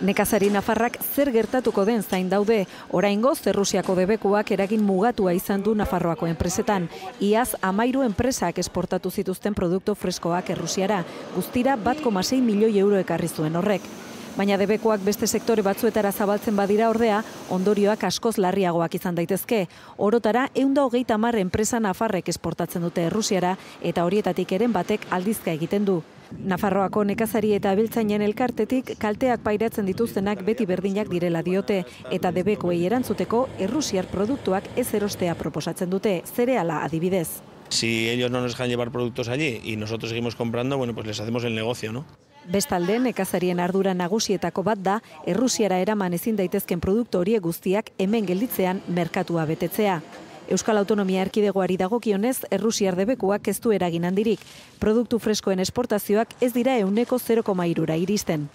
Nekazari nafarrak zer gertatuko den zain daude, oraingoz Errusiako debekuak eragin mugatua izan du Nafarroako enpresetan. Iaz 13 enpresak esportatu zituzten produktu freskoak Errusiara, guztira 1,6 milioi euro ekarri zuen horrek. Baina debekuak beste sektore batzuetara zabaltzen badira ordea, ondorioak askoz larriagoak izan daitezke. Orotara 130 enpresa nafarrek esportatzen dute Errusiara eta horietatik eren batek aldizka egiten du. Nafarroako nekazari eta abiltzainen elkartetik kalteak pairatzen dituztenak beti berdinak direla diote eta debekoei erantzuteko errusiar produktuak ez erostea proposatzen dute, zereala adibidez. Si ellos no nos dejan llevar productos allí y nosotros seguimos comprando, bueno, pues les hacemos el negocio, ¿no? Bestalde, nekazarien ardura nagusietako bat da, Errusiara eraman ezin daitezken produktu horiek guztiak hemen gelditzean merkatua betetzea. Euskal Autonomia Erkidegoari dagokionez, Errusiar debekuak ez du eragin handirik. Produktu freskoen esportazioak ez dira 0,3 iristen.